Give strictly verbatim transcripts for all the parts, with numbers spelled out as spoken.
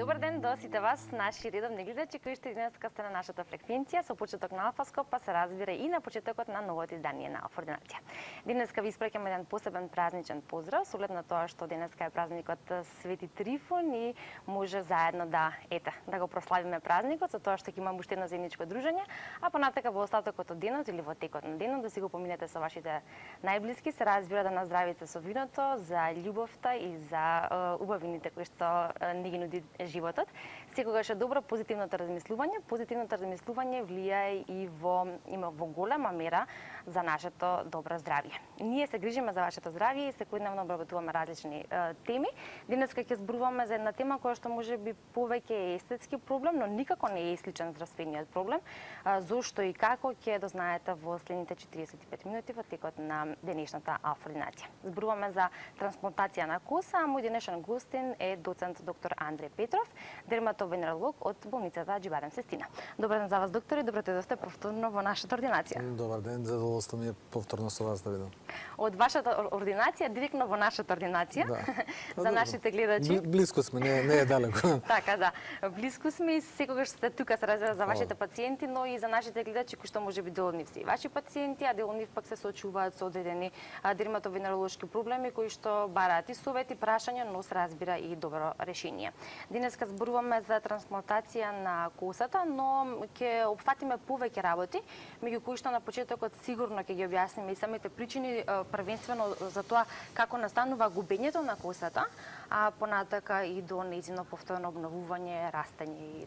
Добар ден до сите вас, наши редовни гледачи кои што денеска сте на нашата фреквенција со почеток на Алфаскоп, па се разбира и на почетокот на новото издание на Алфа Ординација. Денеска ви испраќаме еден посебен празничен поздрав, со оглед на тоа што денеска е празникот Свети Трифун и може заедно да ете да го прославиме празникот со тоа што ќе имаме уште едно заедничко дружење, а понатака во остатокот од денот или во текот на денот да си го поминете со вашите најблиски, се разбира да наздравите со виното за љубовта и за убавините кои што не ги нуди животот. Секогаш е добро позитивното размислување. Позитивното размислување влијае и во има во голема мера за нашето добро здравје. Ние се грижиме за вашето здравје и секојдневно обработуваме различни е, теми. Денеска ќе зборуваме за една тема која што може би повеќе е естетски проблем, но никако не е сличен здравствениот проблем. А, зошто и како ќе дознаете во следните четириесет и пет минути во текот на денешната Алфа Ординација. Зборуваме за трансплантација на коса, а мој денешен гостин е доцент доктор Андреј Петров, дерматовенеролог од болницата Џибарем Сестина. Добар ден за вас, доктор, и добро дојдовте повторно во нашата ординација. Добар ден, задоволство ми е повторно со вас да видам. Од вашата ординација директно во нашата ординација. Да. За нашите гледачи. Блиско сме, не, не е далеко. Така, да. Блиско сме и секогаш сте тука се разбира за вашите пациенти, но и за нашите гледачи кои што може би дел од нив се и ваши пациенти, а дел од нив пак се соочуваат со одредени дерматовенеролошки проблеми кои што бараат и совети, прашања, но се разбира и добро решение. Денеска зборуваме за трансплантација на косата, но ќе опфатиме повеќе работи, меѓу кои што на почетокот сигурно ќе ги објасниме и самите причини, првенствено за тоа како настанува губењето на косата, а понатака и до нејзино повторно обновување, растење и,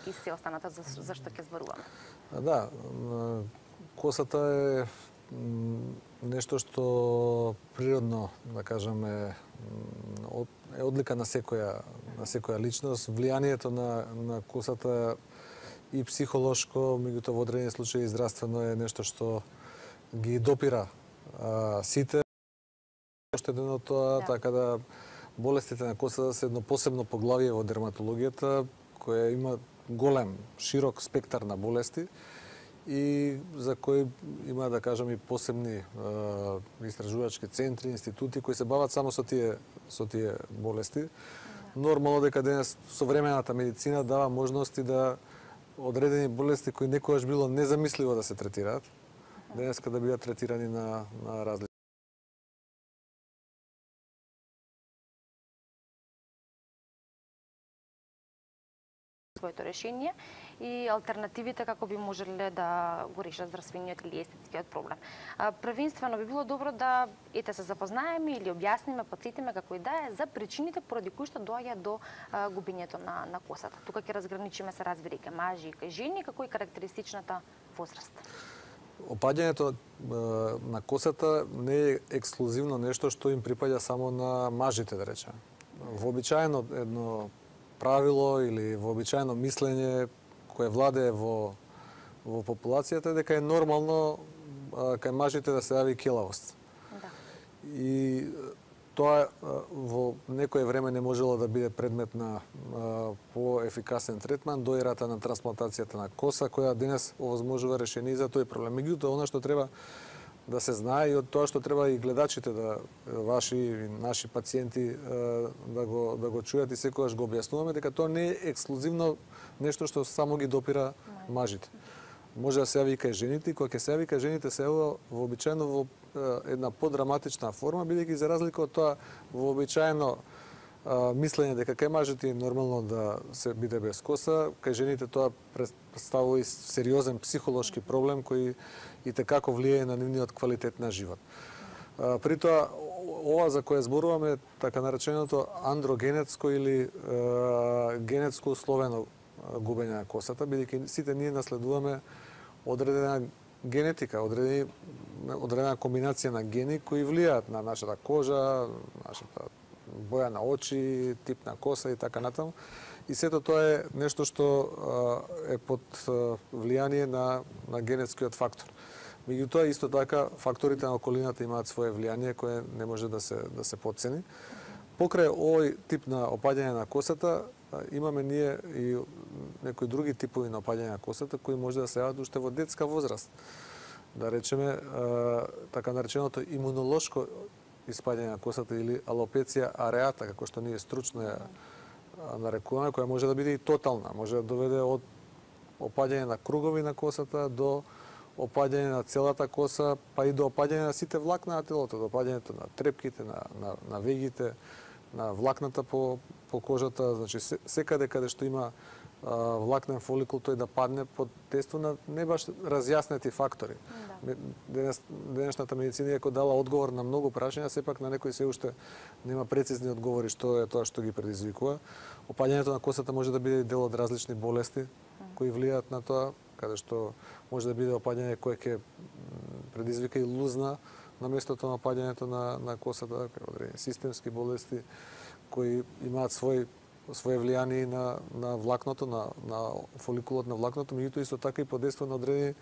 и се останато за, за што ќе зборуваме. Да, косата е нешто што природно, да кажеме, е одлика на секоја на секоја личност. Влијанието на на косата и психолошко, меѓутоа во одредени случаи и здравствено е нешто што ги допира а, сите. Ошто едно од тоа, да. Така да болестите на косата се едно посебно поглавие во дерматологијата, која има голем, широк спектар на болести и за кои има, да кажам, и посебни е, истражувачки центри, институти кои се бават само со тие со тие болести. Нормално дека денес современата медицина дава можности да одредени болести кои некогаш било незамисливо да се третираат, денеска да бидат третирани на на различни своето решение и алтернативите како би можеле да го решат здравствениот или естетскиот проблем. А, првенствено би било добро да ете се запознаеме или објасниме, потсетиме како и да е за причините поради кои што доаѓа до а, губењето на на косата. Тука ќе разграничиме се разбира и кај мажи и кај жени, како и карактеристичната возраст. Опаѓањето на косата не е ексклузивно нешто што им припаѓа само на мажите, да речеме. Вообичаено едно правило или вообичаено мислење кое владее во во популацијата е дека е нормално а, кај мажите да се јави келавост. Да. И тоа а, во некое време не можело да биде предмет на а, поефикасен третман до ерата на трансплантацијата на коса, која денес овозможува решение за тој проблем. Меѓутоа, она што треба да се знае и од тоа што треба и гледачите да ваши и наши пациенти да го да го чујат и секогаш го објаснуваме дека тоа не е ексклузивно нешто што само ги допира мажите. Може да се јави и кај жените, и кога ќе се јави кај жените се јавува вообичаено во една подраматична форма, бидејќи за разлика од тоа вообичаено мислење дека кај мажите е нормално да се биде без коса, кај жените тоа представува и сериозен психолошки проблем кој и текако влијае на нивниот квалитет на живот. При тоа, ова за кое зборуваме, така нареченото андрогенетско или е, генетско условено губење на косата, бидејќи сите ние наследуваме одредена генетика, одредена, одредена комбинација на гени кои влијаат на нашата кожа, нашата боја на очи, тип на коса и така натаму. И сето тоа е нешто што е под влијание на, на генетскиот фактор. Меѓутоа, исто така, факторите на околината имаат свое влијание кое не може да се, да се потцени. Покрај овој тип на опаѓање на косата, имаме ние и некои други типови на опаѓање на косата кои може да се јават уште во детска возраст. Да речеме, така нареченото имунолошко испаѓање на косата или алопеција ареата, како што ние стручно ја нарекуваме, која може да биде и тотална, може да доведе од опаѓање на кругови на косата до опаѓање на целата коса, па и до опаѓање на сите влакна на телото, до опаѓањето на трепките, на, на, на вегите, на влакната по, по кожата, значи секаде каде што има а, влакнен фоликул, тој да падне под действие на не баш разјаснети фактори. Да. Денес, денешната медицина иако дала одговор на многу прашања, сепак на некои се уште нема прецизни одговори што е тоа што ги предизвикува. Опаѓањето на косата може да биде дел од различни болести кои влијаат на тоа, каде што може да биде опаѓање кое ќе предизвика и лузна на местото на опаѓањето на, на косата, одредени системски болести кои имаат свој своје влијание на на влакното, на на фоликулот на влакното, меѓутоа исто така и под действие на одредени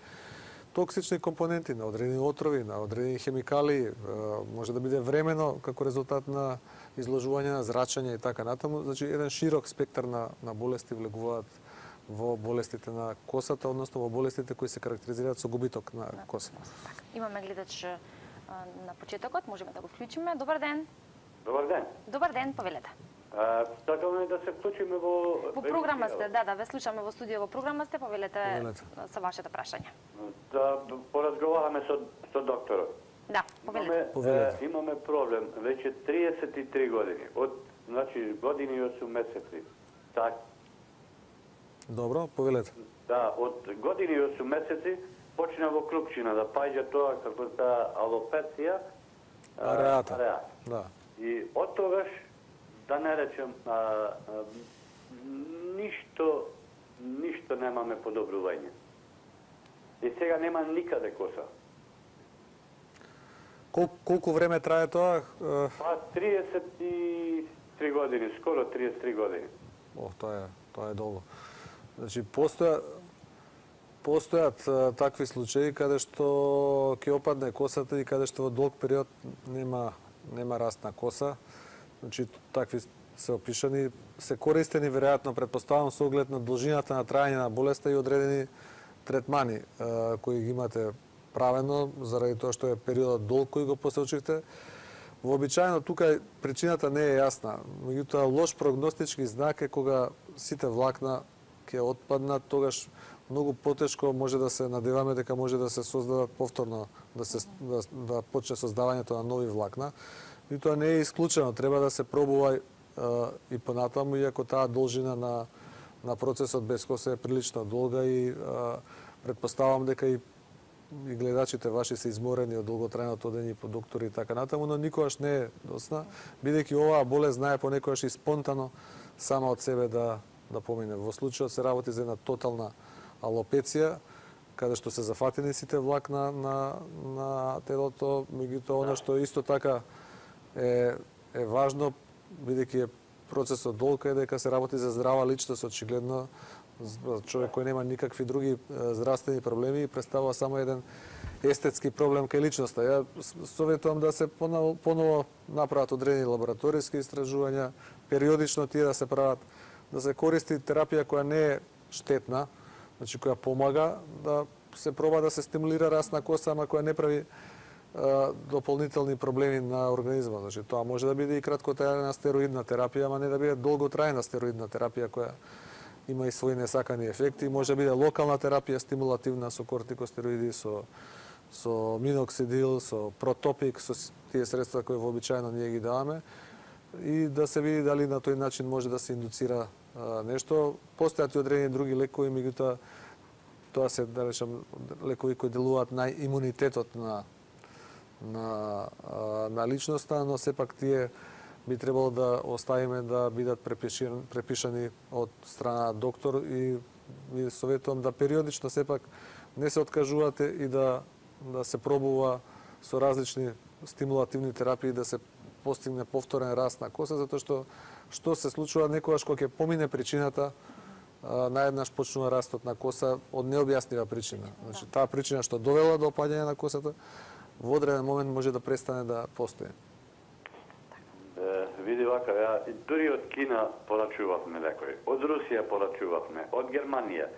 токсични компоненти, на одредени отрови, на одредени хемикали, може да биде времено како резултат на изложување на зрачење и така натаму, значи еден широк спектар на на болести влегуваат во болестите на косата, односно во болестите кои се карактеризираат со губиток на коса. Така, имаме гледач на почетокот, можеме да го вклучиме. Добар ден. Добар ден. Добар ден, повелете. Сакаме да се вклучиме во Во програма сте, да, да, ве слушаме во студио во програма сте, повелете, повелете. Со вашето прашање. Да поразговараме со со докторот. Да, повелете. Имаме, повелете. Имаме проблем веќе триесет и три години, од значи години и осум месеци. Так. Добро, повелете. Да, од години и осум месеци почна во клупчина да паѓа тоа како та алопеција, ареата. Ареат. Да. И од тогаш да не речем, а, а, ништо, ништо немаме подобрување. И сега нема никаде коса. Кол, колку време трае тоа? Па триесет и три години, скоро триесет и три години. О, тоа е, тоа е долго. Значи, постоја, постојат а, такви случаи каде што ќе опадне косата и каде што во долг период нема, нема раст на коса. Значи, такви се опишани, се користени, веројатно, предпоставам, со оглед на должината на трајање на болеста и одредени третмани а, кои ги имате правено, заради тоа што е периодот долг кој го посочивте. Вообичаено, тука причината не е јасна. Меѓутоа, лош прогностички знак е кога сите влакна ќе отпаднат, тогаш многу потешко може да се надеваме дека може да се создадат повторно, да се да, да почне создавањето на нови влакна. И тоа не е исклучено, треба да се пробува а, и понатаму, иако таа должина на, на процесот без коса е прилично долга и а, предпоставам дека и, и гледачите ваши се изморени од долготрајното одење по доктори и така натаму, но никогаш не е досна, бидејќи оваа болест знае понекогаш и спонтано сама од себе да, да помине. Во случајот се работи за една тотална алопеција, каде што се зафатени сите влакна на, на телото, меѓутоа она што исто така е, е важно, бидејќи е процесот долг, е дека се работи за здрава личност, очигледно човек кој нема никакви други здравствени проблеми и представува само еден естетски проблем кај личноста. Ја советувам да се поново, поново направат одредени лабораториски истражувања, периодично тие да се прават, да се користи терапија која не е штетна, значи која помага да се проба да се стимулира раст на коса, ама која не прави дополнителни проблеми на организмот. Значи, тоа може да биде и краткотрајна стероидна терапија, ама не да биде долготрајна стероидна терапија која има и своји несакани ефекти. Може да биде локална терапија стимулативна со кортикостероиди, со со миноксидил, со протопик, со тие средства кои вообичаено ние ги даваме и да се види дали на тој начин може да се индуцира а, нешто. Постојат и одредени други лекови, меѓутоа тоа се, да речем, лекови кои делуваат на имунитетот на на, на личноста, но сепак тие би требало да оставиме да бидат препишани, препишани од страна доктор и ви советувам да периодично сепак не се откажувате и да да се пробува со различни стимулативни терапии да се постигне повторен раст на коса, затоа што што се случува некогаш кога ќе помине причината, наеднаш почнува растот на коса од необјаснива причина. Значи таа причина што довела до опаѓање на косата во одреден момент може да престане да постои. Е, види вака, ја дури од Кина порачувавме лекови, од Русија порачувавме, од Германија,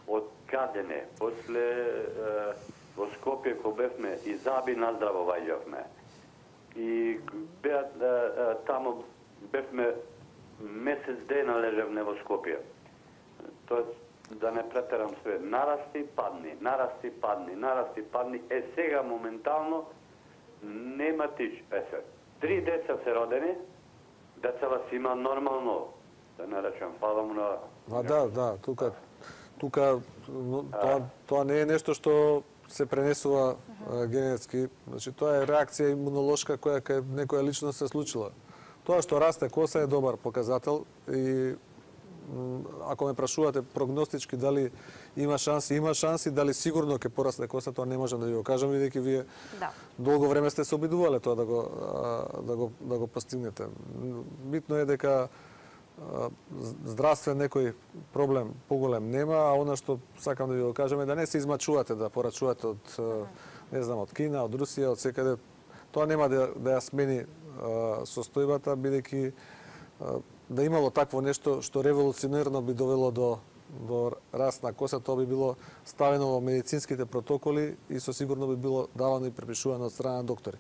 од Кадене, после е, во Скопје кога бевме и Заби наздраво ваѓавме. И беа, е, е, тамо бевме месец дена лежевме во Скопје. Тоа да не претерам све, нарасти, падни, нарасти, падни, нарасти, падни. Е сега моментално нема тич. Е се, три деца се родени, децава си има нормално, да не речем, фала му на... А, да, да, тука, тука тоа, тоа не е нешто што се пренесува а, генетски. Значи, тоа е реакција имунолошка која кај некоја личност се случила. Тоа што расте коса е добар показател и ако ме прашувате прогностички дали има шанси, има шанси, дали сигурно ќе порасне коса, тоа не можам да ви го кажам, бидејќи вие да. долго време сте се обидувале тоа да го, да го, да го постигнете. Битно е дека здравствен некој проблем поголем нема, а она што сакам да ви го кажам е да не се измачувате да порачувате од, не знам, од Кина, од Русија, од секаде. Тоа нема да, да ја смени состојбата, бидејќи да имало такво нешто што револуционерно би довело до до раст на коса, тоа би било ставено во медицинските протоколи и со сигурно би било давано и препишувано од страна на доктори.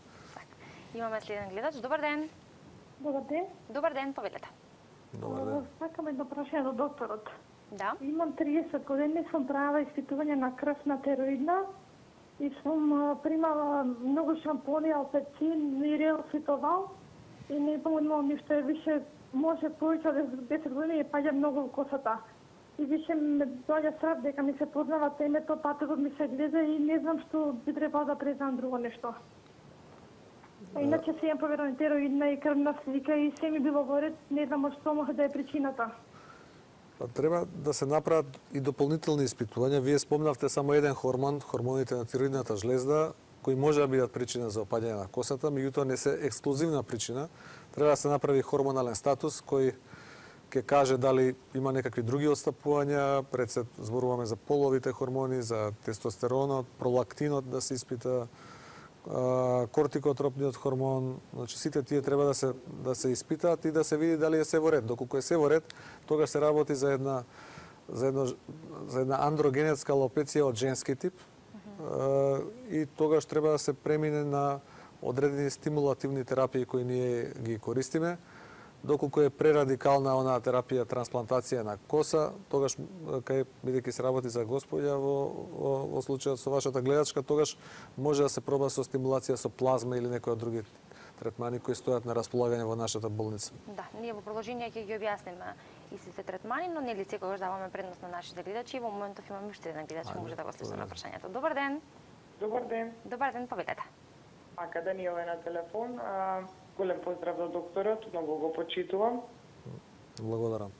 Имаме следен гледач. Добар ден. Добар ден. Добар ден, повелете. Добар ден. Сакам едно прашање до докторот. Да. Имам триесет години, сум правила испитување на крв на тероидна и сум примала многу шампони, алпецин, мирел, ситовал и не помогнало ништо, више може повеќе од десет години и паѓа многу косата. И више ме доаѓа страв дека ми се познава темето, патогот ми се гледа и не знам што би требало да презам друго нешто. А иначе се имам поверено тероидна и крвна слика и се ми било во ред, не знам од што може да е причината. Па треба да се направат и дополнителни испитувања. Вие спомнавте само еден хормон, хормоните на тироидната жлезда, кои може да бидат причина за опаѓање на косата, меѓутоа не се ексклузивна причина. Треба да се направи хормонален статус кој ќе каже дали има некакви други отстапувања, пред се зборуваме за половите хормони, за тестостеронот, пролактинот да се испита, кортикотропниот хормон, значи сите тие треба да се да се испитаат и да се види дали е се во ред. Доколку е се во ред, тогаш се работи за една за едно за една андрогенетска алопеција од женски тип. Uh-huh. И тогаш треба да се премине на одредени стимулативни терапии кои ние ги користиме. Доколку е прерадикална онаа терапија трансплантација на коса, тогаш кај бидејќи се работи за господја во, во, во случајот со вашата гледачка, тогаш може да се проба со стимулација со плазма или некои од други третмани кои стојат на располагање во нашата болница. Да, ние во продолжение ќе ги објасниме истите третмани, но нели секогаш даваме предност на нашите гледачи. Во моментов имаме уште еден гледач, може да го слушаме прашањето. Добар ден. Добар ден. Добар ден, повелете. Македонија е на телефон. А, голем поздрав до докторот, многу го почитувам. Благодарам.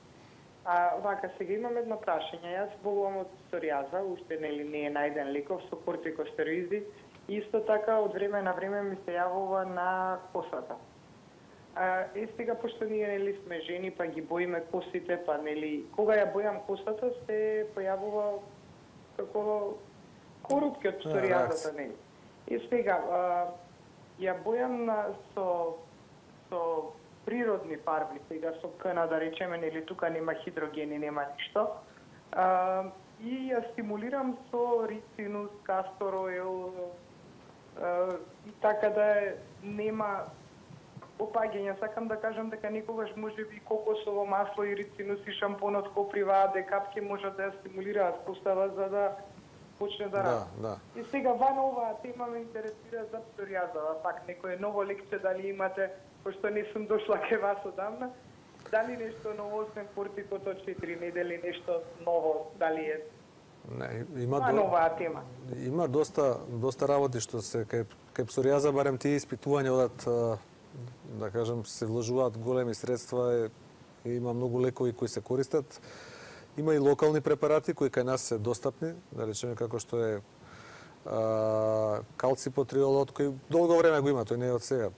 А, вака, сега имам едно прашање. Јас болувам од псоријаза, уште нели не е најден леков со кортикостероиди. Исто така, од време на време ми се јавува на косата. А, и сега, пошто ние нели сме жени, па ги боиме косите, па нели, кога ја бојам косата, се појавува како корупки од псоријазата, нели. И сега, а, ја бојам со, со природни фарби, сега со кна, да речеме, нели тука нема хидрогени, нема ништо. А, и ја стимулирам со рицинус, кастор оил, и така да нема опаѓање. Сакам да кажам дека никогаш може би кокосово масло и рицинус и шампонот коприва, декапки можат да ја стимулираат костава за да почне да расте. Да, да. И сега ван оваа тема ме интересира за псоријаза. Пак некој ново лекција дали имате, пошто не сум дошла кај вас одамна, дали нешто ново освен кортикото четири недели, нешто ново, дали е Не, има а, до... новаа тема? Има доста доста работи што се кај кај псоријаза, барем тие испитувања одат, да кажам, се вложуваат големи средства и има многу лекови кои се користат. Има и локални препарати кои кај нас се достапни, да речеме како што е а, калципотриолот, кој долго време го има, тој не е од сега.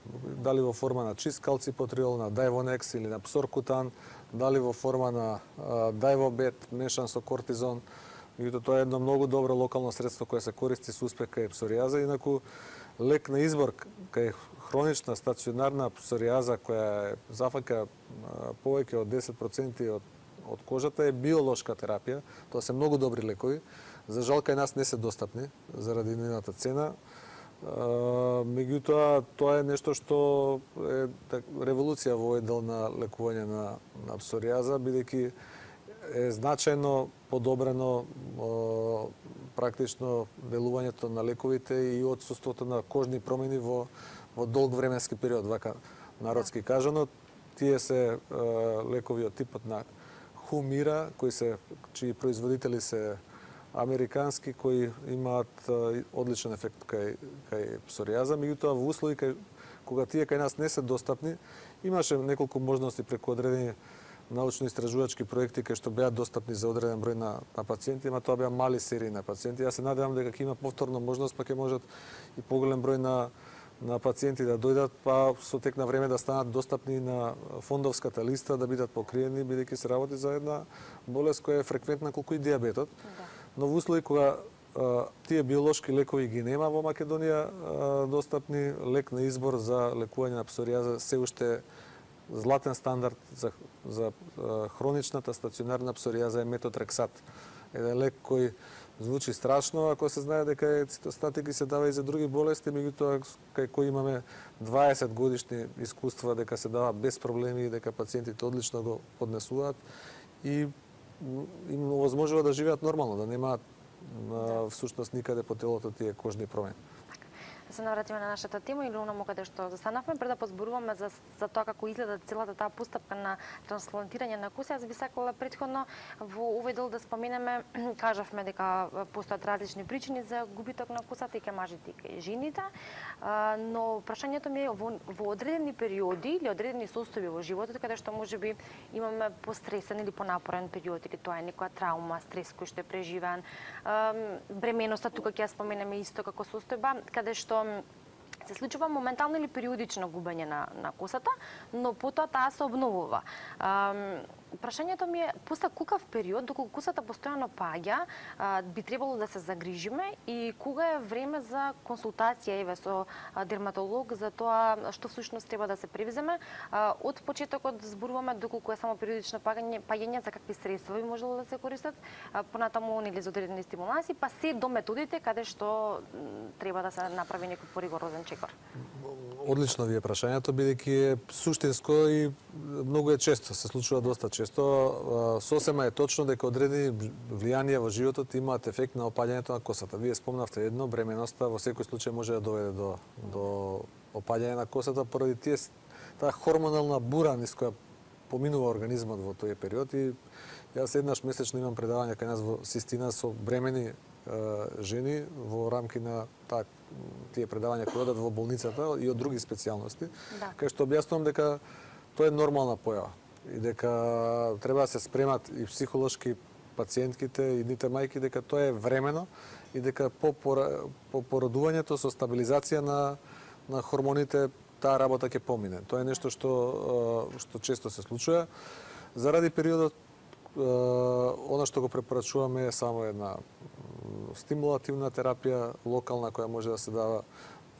Дали во форма на чист калципотриол, на Дайвонекс или на Псоркутан, дали во форма на а, Дайвобет мешан со кортизон. И тоа е едно многу добро локално средство кое се користи со успех кај псоријаза, инаку лек на избор кај хронична стационарна псоријаза која зафаќа повеќе од десет проценти од од кожата е биолошка терапија. Тоа се многу добри лекови. За жал кај нас не се достапни заради нивната цена. Меѓутоа, тоа е нешто што е револуција во овој дел на лекување на, на псоријаза, бидејќи е значајно подобрено практично делувањето на лековите и отсуството на кожни промени во, во долг временски период, вака народски кажано. Тие се лекови од типот на Хумира, кои се, чии производители се американски, кои имаат одличен ефект кај, кај псоријаза. Меѓутоа, во услови кај, кога тие кај нас не се достапни, имаше неколку можности преку одредени научно-истражувачки проекти кај што беа достапни за одреден број на, на пациенти, ама тоа беа мали серии на пациенти. Јас се надевам дека ќе има повторно можност, па ќе можат и поголем број на на пациенти да дојдат, па со тек на време да станат достапни на фондовската листа, да бидат покриени, бидејќи се работи за една болест која е фреквентна колку и дијабетот. Да. Но во услови кога а, тие биолошки лекови ги нема во Македонија а, достапни, лек на избор за лекување на псоријаза се уште златен стандард за, за а, хроничната стационарна псоријаза е метотрексат. Еден лек кој звучи страшно, ако се знае дека е цитостатик и се дава и за други болести, меѓутоа кај кои имаме дваесет годишни искуства дека се дава без проблеми и дека пациентите одлично го поднесуваат и им овозможува да живеат нормално, да немаат всушност никаде по телото тие кожни промени. Да се навратиме на нашата тема или онаму каде што застанавме, пред да позборуваме за, за тоа како изгледа целата таа постапка на трансплантирање на куси. Јас би сакала претходно во овој дел да споменеме, кажавме дека постојат различни причини за губиток на кусата и кај мажите и кај жените, но прашањето ми е во, во одредени периоди или одредени состојби во животот каде што можеби имаме постресен или понапорен период, или тоа е некоја траума, стрес кој што е преживеан, бременоста, тука ќе ја споменеме исто како состојба, каде што се случува моментално или периодично губење на, на косата, но потоа таа се обновува. Ам, прашањето ми е, после кукав период, доколку косата постојано паѓа, а, би требало да се загрижиме и кога е време за консултација еве со а, дерматолог за тоа што всушност треба да се превземе. А, од почетокот зборуваме доколку е само периодично паѓање, паѓање за какви средства би можело да се користат, а, понатаму или за одредени стимуланси, па се до методите каде што треба да се направи некој поригорозен чекор. Одлично ви е прашањето, бидејќи е суштинско и многу е често, се случува доста често. Сосема е точно дека одредени влијанија во животот имаат ефект на опаѓањето на косата. Вие спомнавте едно, бременоста во секој случај може да доведе до, до опаѓање на косата поради тие таа хормонална бура низ која поминува организмот во тој период и јас еднаш месечно имам предавање кај нас во Систина со бремени жени во рамки на таа тие предавања кои одат во болницата и од други специјалности, да. Кај што објаснувам дека тоа е нормална појава и дека треба да се спремат и психолошки пациентките и ните мајки дека тоа е времено и дека по, по породувањето со стабилизација на на хормоните таа работа ќе помине. Тоа е нешто што што често се случува. Заради периодот она што го препорачуваме е само една стимулативна терапија, локална, која може да се дава.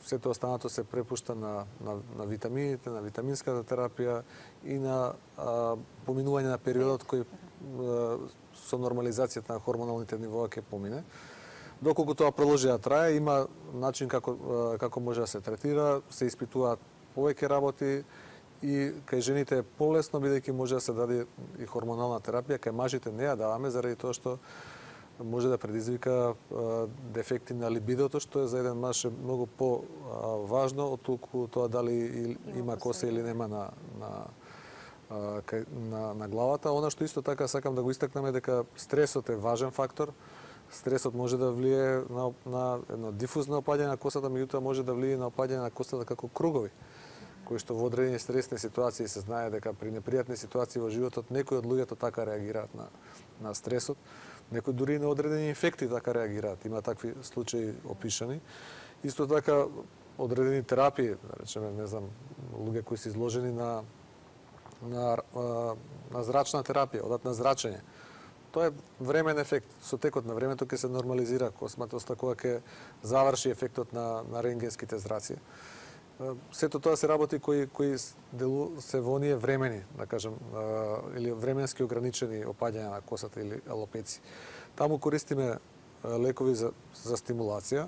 Сето останато се препушта на, на, на витамините, на витаминската терапија и на а, поминување на периодот кој а, со нормализацијата на хормоналните нивоа ќе помине. Доколку тоа продолжи да трае, има начин како, а, како може да се третира, се испитуваат повеќе работи и кај жените е полесно, бидејќи може да се даде и хормонална терапија, кај мажите не ја даваме заради тоа што може да предизвика а, дефекти на либидото, што е за еден маж е многу по-важно од толку тоа дали има коса или нема на, на, а, на, на главата. Она што исто така сакам да го истакнам е дека стресот е важен фактор. Стресот може да влие на, на едно дифузно опаѓање на косата, меѓутоа може да влие на опаѓање на косата како кругови, кои што во одредени стресни ситуации се знае дека при непријатни ситуации во животот некои од луѓето така реагираат на, на стресот. Некои дури и на одредени инфекти така реагираат. Има такви случаи опишани. Исто така одредени терапии, да речеме, не знам, луѓе кои се изложени на на на зрачна терапија, одат на зрачење. Тоа е времен ефект. Со текот на времето ќе се нормализира косматоста кога ќе заврши ефектот на на рентгенските зраци. Сето тоа се работи кои кои делу се во оние времени, да кажем, или временски ограничени опаѓања на косата или алопеци. Таму користиме лекови за за стимулација,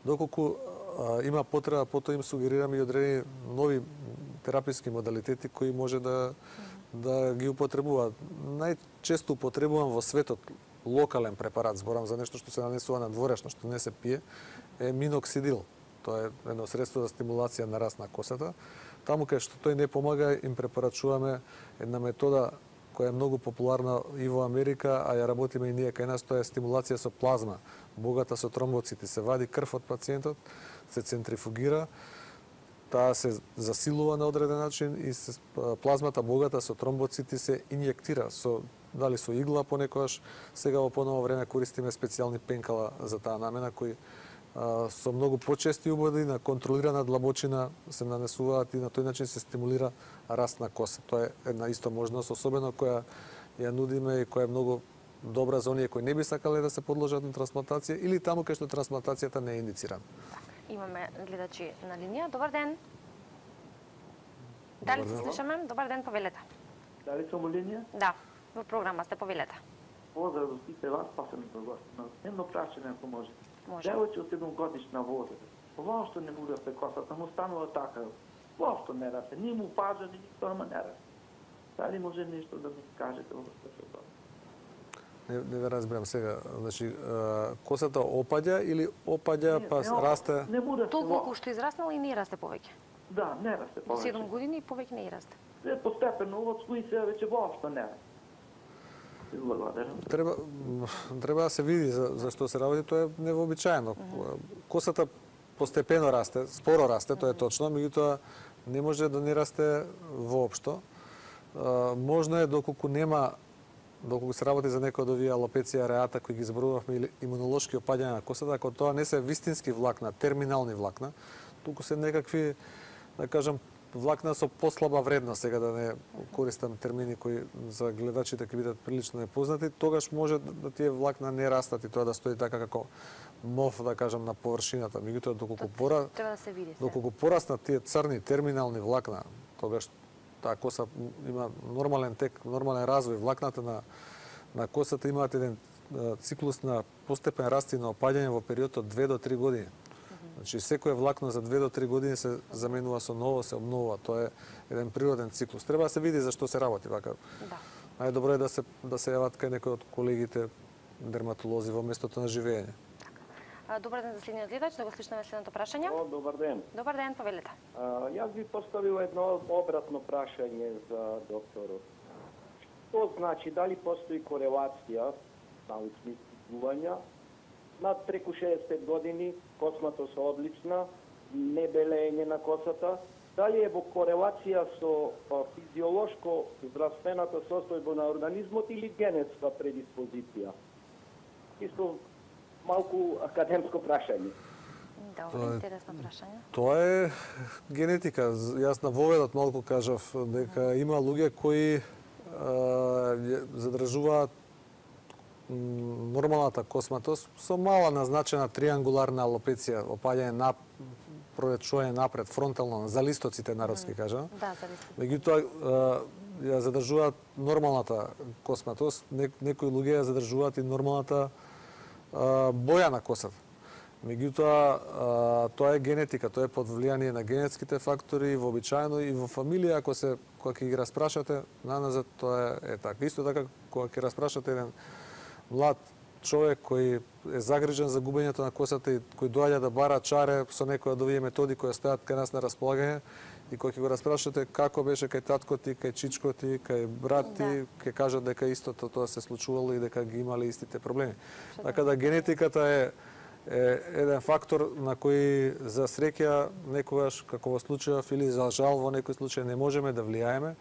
доколку а, има потреба, потоа им сугерираме и одредени нови тераписки модалитети кои може да да ги употребуваат. Најчесто употребувам во светот локален препарат, зборам за нешто што се нанесува на дворешно, што не се пие, е миноксидил. Тоа е едно средство за стимулација на раст на косата. Таму кај што тој не помага, им препорачуваме една метода која е многу популарна и во Америка, а ја работиме и ние кај нас, тоа е стимулација со плазма, богата со тромбоцити. Се вади крв од пациентот, се центрифугира, таа се засилува на одреден начин и се, плазмата богата со тромбоцити се инјектира со дали со игла понекогаш. Сега во поново време користиме специјални пенкала за таа намена кои а, со многу почести убоди на контролирана длабочина се нанесуваат и на тој начин се стимулира раст на коса. Тоа е една исто можност, особено која ја нудиме и која е многу добра за оние кои не би сакале да се подложат на трансплантација или таму кај што трансплантацијата не е индицирана. Имаме гледачи на линија. Добар ден. Дали се слушаме? Добар ден, повелете. Дали сум у линија? Да, во програма сте, повелете. Поздрав за сите вас, пасеното гости. Едно прашање ако може. Може. Девојче од седум годишна возраст. Воопшто не му расте косата, му станува така. Воопшто не расте. Ни му пажа, ни никто, ама не расте. Дали може нешто да ми кажете во врска со тоа? Не, не ве разбирам сега. Значи, косата опаѓа или опаѓа па расте? Не му расте. Толку што израснал и не расте повеќе. Да, не расте Во повеќе. седум години и повеќе не расте. Се постепено од свој се веќе воопшто не расте. Благодарам. Треба треба да се види за, за што се работи, тоа е невообичаено. Косата постепено расте, споро расте, тоа е точно, меѓутоа не може да не расте воопшто. Можно е доколку нема доколку се работи за некој од овие алопеција ареата кои ги зборувавме или имунолошки опаѓања на косата, ако тоа не се вистински влакна, терминални влакна, туку се некакви, да кажам, влакна со послаба вредност, сега да не користам термини кои за гледачите ќе бидат прилично непознати, тогаш може да тие влакна не растат и тоа да стои така како мов, да кажам, на површината. Меѓутоа доколку пора Треба да се види се. доколку пораснат тие црни терминални влакна, тогаш таа коса има нормален тек, нормален развој. Влакната на на косата имаат еден циклус на постепен раст и на опаѓање во период од две до три години. Значи секое влакно за две до три години се заменува со ново, се обновува. Тоа е еден природен циклус. Треба да се види за што се работи вака. Да. Најдобро е да се да се јават кај некој од колегите дерматолози во местото на живење. А, добар ден за следниот гледач, да го слушнеме следното прашање. О, добар ден. Добар ден, повелете. А, јас би поставил едно обратно прашање за докторот. Што значи, дали постои корелација, научни истражувања, над преку шеесет години, косматост одлична, не белење на косата, дали е во корелација со а, физиолошко здравствената состојба на организмот или генетска предиспозиција? Исто малку академско прашање. Добро, интересно прашање. Тоа е генетика. Јас на воведот малку кажав дека има луѓе кои а, задржуваат нормалната косматост со мала назначена триангуларна алопеција, опаѓање на проречување напред, фронтално, за листоците народски кажа. Да, за листоците. Меѓутоа ја задржуваат нормалната косматост, некои луѓе ја задржуваат и нормалната а, боја на косата. Меѓутоа тоа е генетика, тоа е под влијание на генетските фактори, вообичаено и во фамилија, ако се кога ќе ги распрашате наназад, тоа е, е така. Исто така кога ќе распрашате еден млад човек кој е загрижен за губењето на косата и кој доаѓа да бара чаре со некои од овие методи кои стојат кај нас на располагање и кога ќе го распрашате како беше кај татко ти, кај чичко ти, кај брат ти, Да. ќе кажат дека истото тоа се случувало и дека ги имале истите проблеми. Така да генетиката е е еден фактор на кој за среќа некогаш, како во случајов или за жал во некој случај не можеме да влијаеме.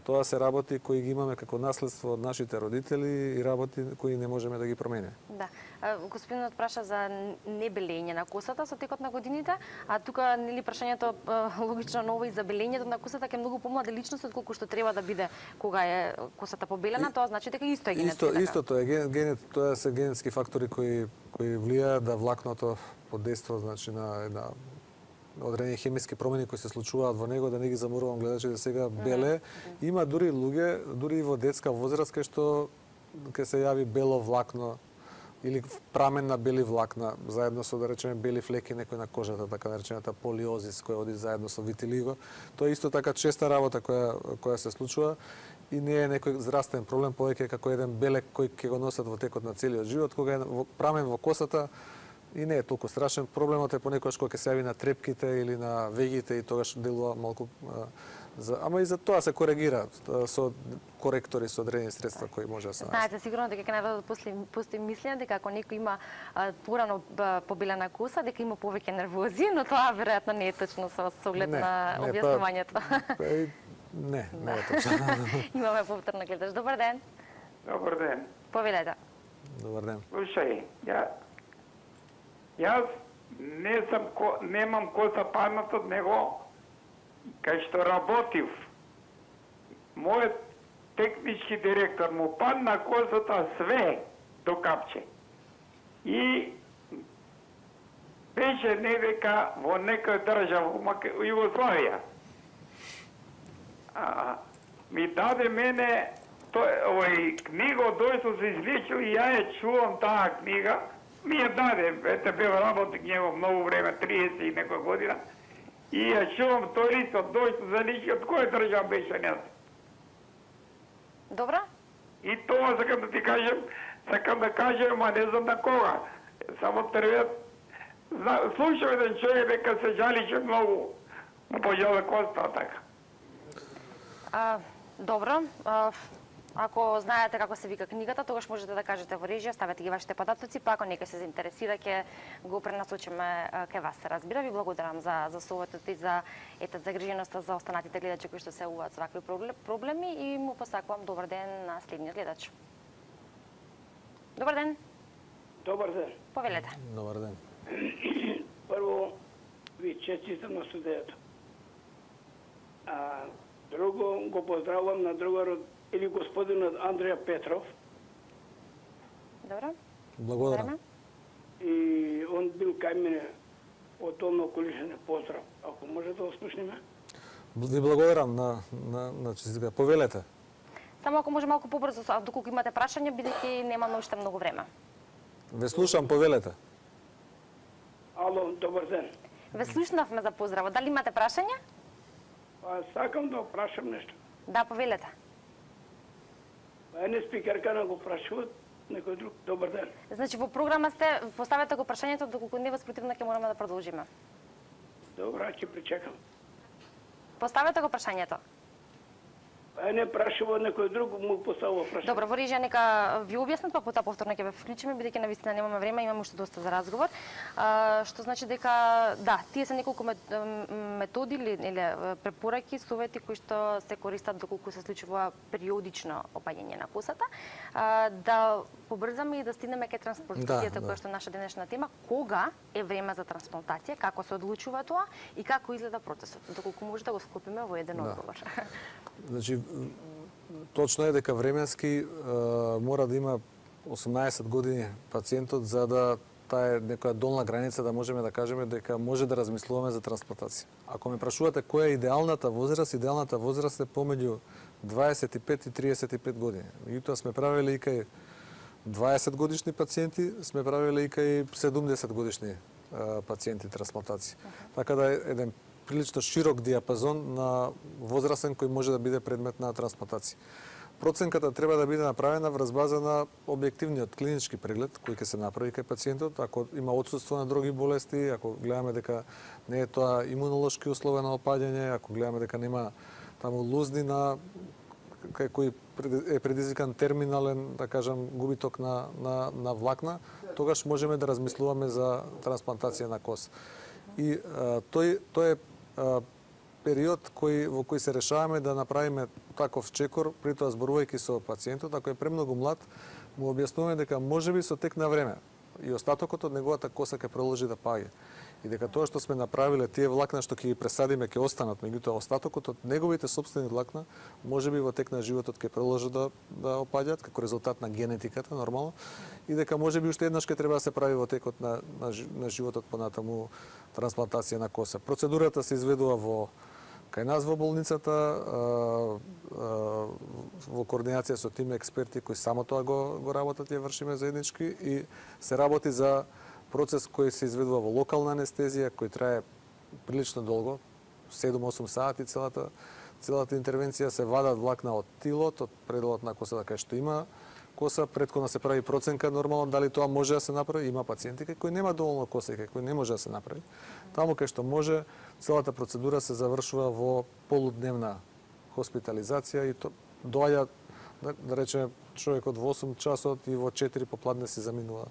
Тоа се работи кои ги имаме како наследство од нашите родители и работи кои не можеме да ги промениме. Да. А, господинот праша за небелење на косата со текот на годините, а тука нели прашањето а, логично ново и за белењето на косата ке многу помладе личност од колку што треба да биде кога е косата побелена, тоа значи дека исто е генетски. Исто, така. истото е ген, ген, тоа се генетски фактори кои кои влијаат да влакното подейства значи на една одредени хемиски промени кои се случуваат во него, да не ги заморувам гледачите сега беле. Има дури луѓе, дури и во детска возраст кај што ќе се јави бело влакно или прамен на бели влакна, заедно со, да речеме, бели флеки некои на кожата, така наречената полиозис, која оди заедно со витилиго. Тоа е исто така честа работа која, која се случува и не е некој здравствен проблем, повеќе како еден белек кој ќе го носат во текот на целиот живот, кога е прамен во косата и не е толку страшен. Проблемот е понекогаш кога ќе се јави на трепките или на вегите и тогаш делува малку за, ама и за тоа се коригира со коректори, со одредени средства кои може да се најдат. Знаете сигурно дека ќе најдат постои мислење дека ако некој има а, порано побелена коса, дека има повеќе нервози, но тоа веројатно не е точно со оглед на објаснувањето. Па, не, не е точно. Имаме повторно гледаш. Добар ден. Добар ден. Повелете. Добар ден. Слушај, ја јас не сум немам коса паднат од него кај што работив. Мојот технички директор му падна косата све до капче. И беше невека во некоја држава во Југославија. А, ми даде мене тој овој книга дој што се излечил и ја ја чувам таа книга. Ми ја даде, ете бев работник него многу време, триесет и некоја година. И ја чувам тој листот дој што се лечи, од која држава беше не? Добра? И тоа сакам да ти кажем, сакам да кажем, а не знам на кога. Само треба слушам еден човек дека се жали че многу му пожала коста, така. А, добро. А, ако знаете како се вика книгата, тогаш можете да кажете во режија, ставете ги вашите податоци, па ако некој се заинтересира, ќе го пренасочиме кај вас, се разбира. Ви благодарам за за советот и за ете загриженоста за останатите гледачи кои што се уваат со вакви проблеми и му посакувам добар ден на следниот гледач. Добар ден. Добар ден. Повелете. Добар ден. Прво ви честитам на студијата. А друго го поздравувам на другарот или господинот Андреја Петров. Добро. Благодарам. И он бил кај мене од Долно Околишене. Поздрав. Ако може да ослушниме. Ви благодарам на на на честитка. Повелете. Само ако може малку побрзо, а доколку имате прашања, бидејќи нема уште многу време. Ве слушам, повелете. Ало, добар ден. Ве слушнавме за поздраво. Дали имате прашања? А, сакам да прашам нешто. Да, повелете. Една спикерка на го прашуват некој друг. Добар ден. Значи во програма сте, поставете го прашањето, доколку не воспротивно ќе мораме да продолжиме. Добра, ќе причекам. Поставете го прашањето. Е, не прашува некој друг, му поставува прашање. Добро, во режија нека ви објаснат, па потоа повторно ќе ве вклучиме, бидејќи навистина немаме време, имаме уште доста за разговор. А, што значи дека да, тие се неколку методи или, или препораки, совети кои што се користат доколку се случува периодично опаѓање на косата, а, да побрзаме и да стигнеме кај трансплантацијата, да, која што е наша денешна тема. Кога е време за трансплантација, како се одлучува тоа и како изгледа процесот, доколку може да го склопиме во еден да. одговор. Значи, точно е дека временски е, мора да има осумнаесет години пациентот за да таа е некоја долна граница да можеме да кажеме дека може да размислуваме за трансплантација. Ако ме прашувате која е идеалната возраст, идеалната возраст е помеѓу дваесет и пет и триесет и пет години. Меѓутоа сме правеле и кај дваесет годишни пациенти, сме правеле и кај седумдесет годишни е, пациенти трансплантација. Uh-huh. Така да е еден прилично широк диапазон на возрастен кој може да биде предмет на трансплантација. Проценката треба да биде направена врз база на објективниот клинички преглед кој ќе се направи кај пациентот, ако има отсуство на други болести, ако гледаме дека не е тоа имунолошки условено опаѓање, ако гледаме дека нема таму лузни на кај кој е предизвикан терминален, да кажам, губиток на на на влакна, тогаш можеме да размислуваме за трансплантација на коса. И а, тој тој е а, период кој во кој се решаваме да направиме таков чекор, при тоа зборувајќи со пациентот, ако е премногу млад, му објаснуваме дека можеби со тек на време и остатокот од неговата коса ќе продолжи да паѓа. И дека тоа што сме направиле, тие влакна што ќе ги пресадиме ќе останат, меѓутоа остатокот од неговите сопствени влакна можеби во тек на животот ќе продолжат да да опаѓаат како резултат на генетиката нормално и дека можеби уште еднаш ќе треба да се прави во текот на на, на животот понатаму трансплантација на коса. Процедурата се изведува во Кај нас во болницата, во координација со тим експерти кои само тоа го, го работат, ја вршиме заеднички и се работи за процес кој се изведува во локална анестезија, кој трае прилично долго, седум-осум сати целата, целата интервенција, се вадат влакна од тилот, од пределот на косата кај што има коса, претходно се прави проценка нормално дали тоа може да се направи, има пациенти кај кои нема доволно коса и кај кои не може да се направи. Таму кај што може, целата процедура се завршува во полудневна хоспитализација и то доаѓа, да, да речеме, човекот во осум часот и во четири попладне си заминува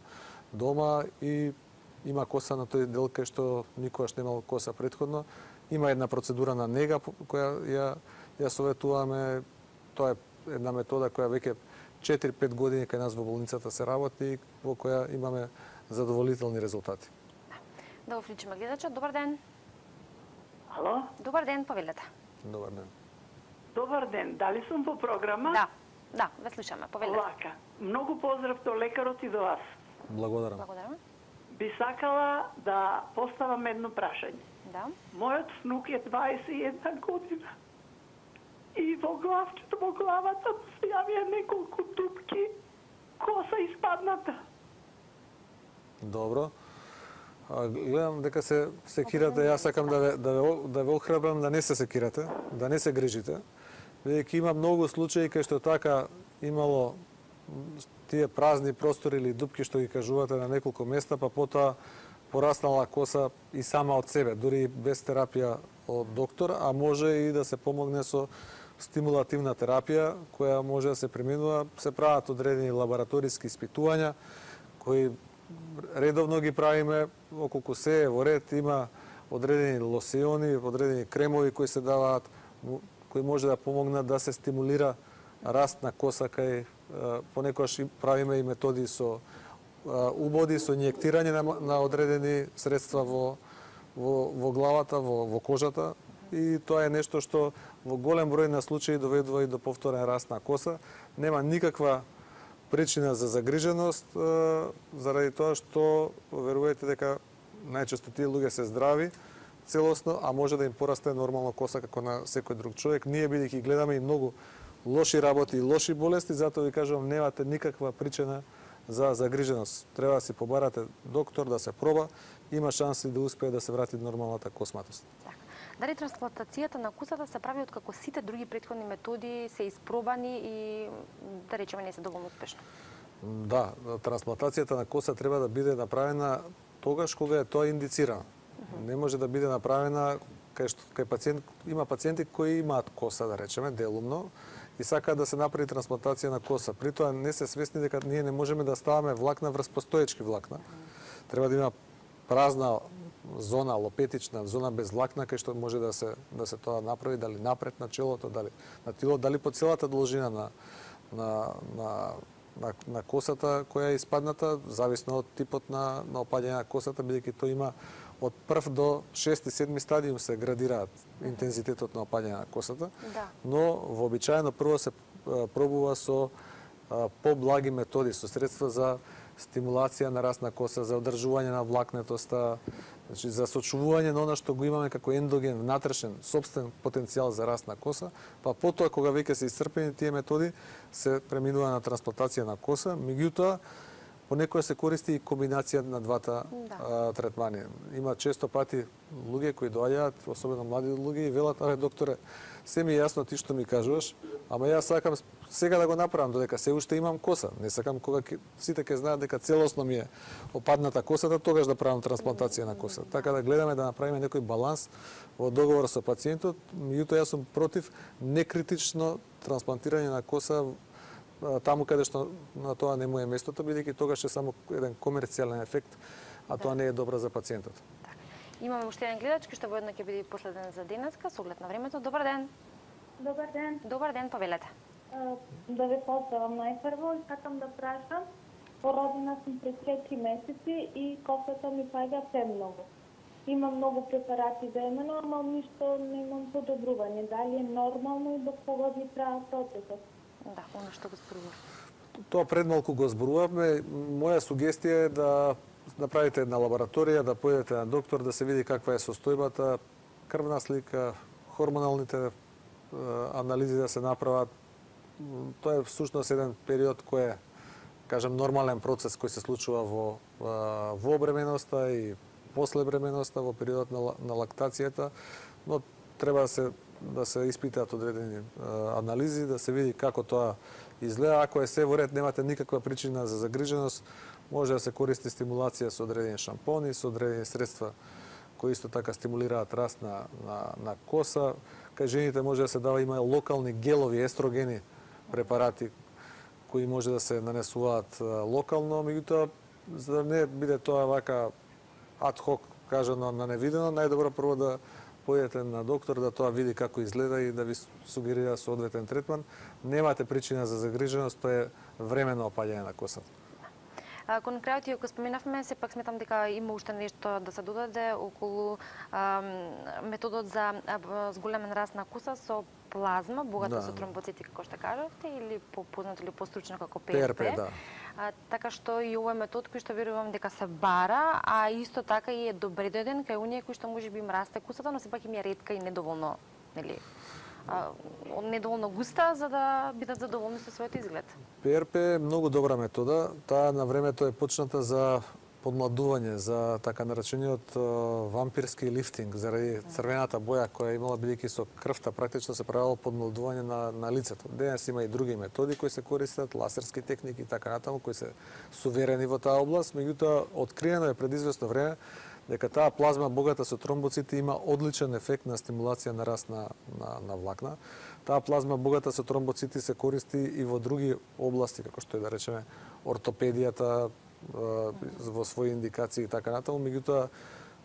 дома и има коса на тој дел кај што никогаш немал коса претходно. Има една процедура на нега која ја, ја советуваме. Тоа е една метода која веќе четири-пет години кај нас во болницата се работи, во која имаме задоволителни резултати. Да го вклучиме гледачот. Добар ден. Ало? Добар ден, повелете. Добар ден. Добар ден. Дали сум по програма? Да. Да, ве слушаме. Повелете. Лака. Многу поздрав до лекарот и до вас. Благодарам. Благодарам. Би сакала да поставам едно прашање. Да. Мојот снук е дваесет и една година. И во главчето, во главата му се јавија неколку дупки, коса испадната. Добро. А, гледам дека се секирате, јас сакам да ве, да ве, да ве охрабрам да не се секирате, да не се грижите, бидејќи има многу случаи кај што така имало тие празни простори или дупки што ги кажувате на неколку места, па потоа пораснала коса и сама од себе, дури без терапија од доктор, а може и да се помогне со стимулативна терапија, која може да се применува. Се прават одредени лабораториски испитувања, кои редовно ги правиме, околку се е во ред, има одредени лосиони, одредени кремови кои се даваат, кои може да помогнат да се стимулира раст на коса кај, понекогаш правиме и методи со убоди, со инјектирање на, на одредени средства во, во, во главата, во, во кожата, и тоа е нешто што во голем број на случаи доведува и до повторен раст на коса. Нема никаква причина за загриженост, заради тоа што верувајте дека најчесто тие луѓе се здрави целосно, а може да им порасте нормално коса како на секој друг човек. Ние бидејќи гледаме и многу лоши работи и лоши болести, затоа ви кажувам, немате никаква причина за загриженост. Треба да си побарате доктор, да се проба, има шанси да успее да се врати нормалната косматост. Дали трансплантацијата на косата се прави од како сите други претходни методи се испробани и, да речеме, не се доволно успешно? Да, трансплантацијата на коса треба да биде направена тогаш кога е тоа индицирано. Uh-huh. Не може да биде направена кај што кај пациент, има пациенти кои имаат коса, да речеме, делумно, и сакаат да се направи трансплантација на коса. При тоа не се свесни дека ние не можеме да ставаме влакна врз постоечки влакна. Треба да има празна зона, лопетична зона без влакна, кај што може да се да се тоа направи, дали напред на челото, дали на тилот, дали по целата должина на на на на, на косата која е испадната, зависно од типот на на опаѓање на косата, бидејќи тоа има од прв до шести седми стадиум се градираат интензитетот на опаѓање на косата, да. Но вообичаено прво се пробува со а, поблаги методи, со средства за стимулација на раст на коса, за одржување на влакнетоста, значи за сочувување на она што го имаме како ендоген, внатрешен, собствен потенцијал за раст на коса, па потоа кога веќе се исцрпени тие методи, се преминува на трансплантација на коса, меѓутоа понекогаш се користи и комбинација на двата да. а, третмани. Има често пати луѓе кои доаѓаат, особено млади луѓе, и велат: "Абе докторе, се ми е јасно ти што ми кажуваш, ама јас сакам сега да го направам, додека се уште имам коса. Не сакам кога ке, сите ќе знаат дека целосно ми е опадната косата, тогаш да правам трансплантација на коса." Така да гледаме да направиме некој баланс во договор со пациентот. Меѓутоа јас сум против некритично трансплантирање на коса таму каде што на тоа не му е местото, бидејќи тогаш е само еден комерцијален ефект, а тоа не е добро за пациентот. Так. Имаме уште еден гледач кој што воедно ќе биде последен за денеска, со оглед на времето. Добар ден. Добар ден. Добар ден, повелете. Да ве поздравам најпрво и сакам да прашам. Породена сум пред четири месеци и косата ми паѓа премногу. Имам многу препарати времено, ама ништо не имам подобрување. Дали е нормално и до кога би трае процесот? Да, оно што го зборував. Тоа предмалку го зборувавме. Моја сугестија е да направите една лабораторија, да појдете на доктор, да се види каква е состојбата, крвна слика, хормоналните анализи да се направат. Тоа е всушност еден период кој е, кажем, нормален процес кој се случува во во бременоста и после бременоста, во периодот на, на лактацијата, но треба да се да се испитаат одредени анализи, да се види како тоа изгледа. Ако е се во ред, немате никаква причина за загриженост, може да се користи стимулација со одредени шампони, со одредени средства кои исто така стимулираат раст на, на, на коса. Кај жените може да се дава, има локални гелови естрогени препарати кои може да се нанесуваат локално, меѓутоа, за да не биде тоа вака адхок, кажано на невидено, најдобро прво да појдете на доктор, да тоа види како изгледа и да ви сугерира соодветен третман. Немате причина за загриженост, тоа е временно опаѓање на косата. Кон крајот, иако споменавме, сепак сметам дека има уште нешто да се додаде околу а, методот за зголемен раст на коса со плазма, богата да. со тромбоцити, како што кажавте, или попознато или постручно како П Р П. П Р П, да. А, така што и овој метод кој што верувам дека се бара, а исто така и е добредоден кај оние кои што можеби им расте косата, но сепак им е ретка и недоволно, нели? недоволно густа за да бидат задоволни со својот изглед. П Р П е многу добра метода. Таа на времето е почната за подмладување, за така наречениот вампирски лифтинг, заради црвената боја која имала, бидејќи со крвта практично се правило подмладување на, на лицето. Денес има и други методи кои се користат, ласерски техники и така натаму, кои се суверени во таа област, меѓутоа откриено е пред известно време дека таа плазма богата со тромбоцити има одличен ефект на стимулација на раст на, на, на влакна. Таа плазма богата со тромбоцити се користи и во други области, како што е да речеме ортопедијата, во своји индикации и така натаму, меѓутоа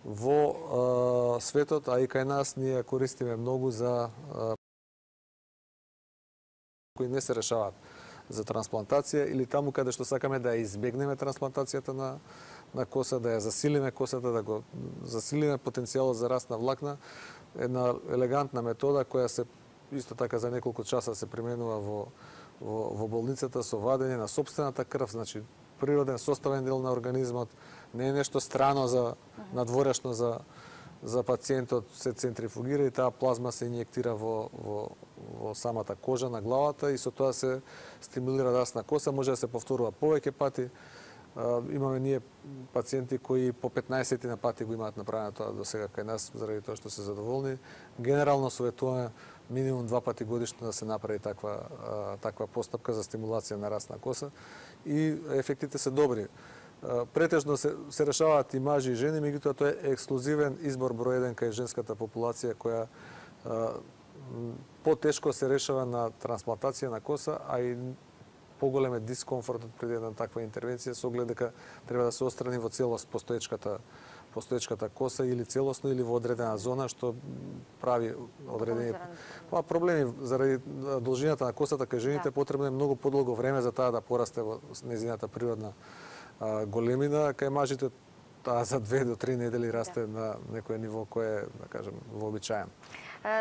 во а, светот, а и кај нас, ние користиме многу за а, кои не се решаваат за трансплантација или таму каде што сакаме да ја избегнеме трансплантацијата на на коса, да ја засилиме косата, да го засилиме потенцијалот за раст на влакна. Една елегантна метода која се исто така за неколку часа се применува во во, во болницата со вадење на сопствената крв, значи природен составен дел на организмот, не е нешто страно за надворешно за за пациентот, се центрифугира и таа плазма се инјектира во во во самата кожа на главата и со тоа се стимулира раст на коса, може да се повторува повеќе пати. Имаме ние пациенти кои по петнаесет на пати го имаат направено тоа до сега кај нас, заради тоа што се задоволни. Генерално советуваме минимум два пати годишно да се направи таква таква постапка за стимулација на раст на коса и ефектите се добри. Претежно се, се решаваат и мажи и жени, меѓутоа тоа е ексклузивен избор број еден кај женската популација која потешко се решава на трансплантација на коса, а и поголем е дискомфортот пред една таква интервенција со оглед дека треба да се отстрани во целост постоечката постоечката коса или целосно или во одредена зона што прави одредени па проблеми заради должината на косата кај жените. Да. Потребно е многу подолго време за таа да порасте во незината природна а, големина, кај мажите таа за две до три недели расте. Да. На некое ниво кое е, да кажем, вообичаен.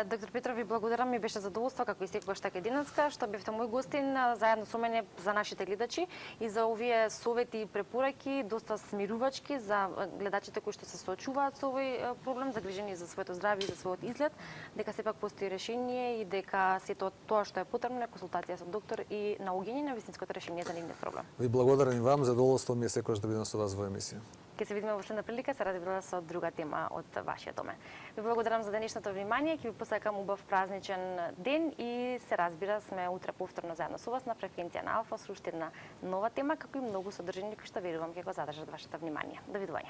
Доктор Петров, ви благодарам, ми беше задоволство како и секогаш така денеска што бевте мој гостин заедно со мене за нашите гледачи и за овие совети и препораки доста смирувачки за гледачите кои што се соочуваат со овој проблем, загрижени за своето здравје и за својот изглед, дека сепак постои решение и дека сето тоа што е потребно е консултација со доктор и наоѓање на вистинското решение за нивниот проблем. Ви благодарам и вам, задоволство ми е секогаш да бидам со вас во емисија. Ќе се видиме во следна прилика, се разбира со друга тема од вашиот домен. Ви благодарам за денешното внимание, ќе ви посакам убав празничен ден и се разбира сме утре повторно заедно со вас на фреквенција на Алфа со уште една нова тема, како и многу содржини кои што верувам ќе го задржат вашето внимание. Довидување.